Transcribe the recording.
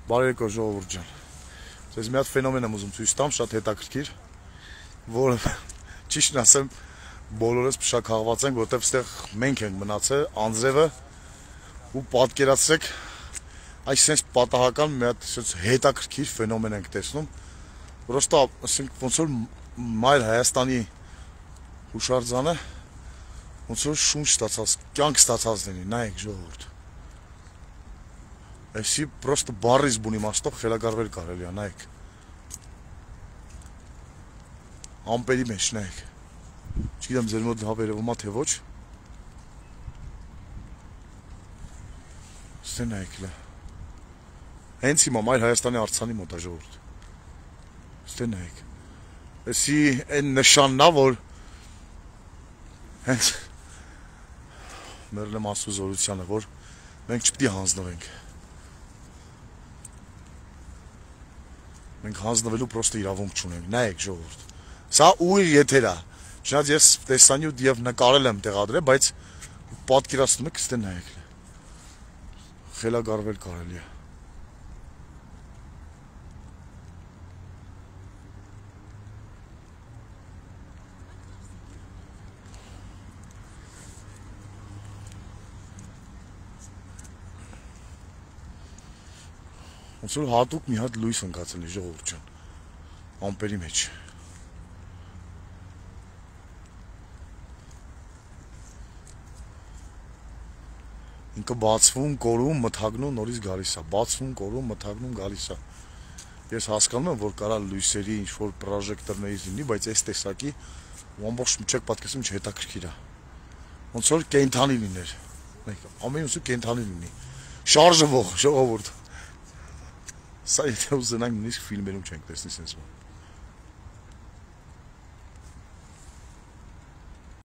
Բարեկո ժողովուրդ ջան։ Ձեզ մի հատ ֆենոմեն եմ ուզում ցույց տամ, շատ հետաքրքիր, որը ճիշտն ասեմ, բոլորս փշաքաղված ենք, որտեղ այստեղ մենք ենք մնացել, անձրևը, ու պատկերացրեք, այսպես պատահական մի հատ հետաքրքիր ֆենոմեն ենք տեսնում, որոստա, ասենք, ոնց որ Մայր Հայաստանի հուշարձանը, ոնց որ շունչ ստացած, կյանք ստացած լինի, նայեք ժողովուրդ։ Այսի պրոստը բարից բուն իմաստով խելագարվել կարելի է, նայեք։ Ամպերի մեջ, նայեք։ Չգիտեմ ձեր մոտ հավերևում է թե ոչ։ Ստե նայեք լա։ Հենց հիմա Մայր Հայաստանի արձանի մոտ է ժողովուրդ։ Ստե նայեք։ Այսի այն նշանն է, որ հենց մերլեմ ասու զորությանը, որ մենք չպետք է հանձնվենք։ Մենք հանձնվելու պրոստը իրավունք չունենք, նայեք ժողովուրդ։ Սա ուղիղ եթեր է։ Չնայած ես տեսանյութ եւ նկարել եմ տեղադրել, բայց պատկերացնում եք, ստե նայեք։ Խելագարվել կարելի է։ Ոնց որ հատուկ մի հատ լույս ընկածել է ժողովուրդ ջան, ամպերի մեջ։ Ինքը բացվում, կորում, մթագնում, նորից գալիս է, բացվում, կորում, մթագնում, գալիս է։ Ես հասկանում եմ, որ կարա լույսերի ինչ-որ պրոժեկտորներից լինի, բայց այս տեսակի ու ամբողջ չեք պատկերացնում, ինչ հետաքրքիր է։ Ոնց որ կենդանի լիներ։ Ամեն ինչ կենդանի լինի։ Շարժվող ժողովուրդ։ Սա եթե ուզենանք նույնիսկ ֆիլմերում չենք տեսնի sense բան։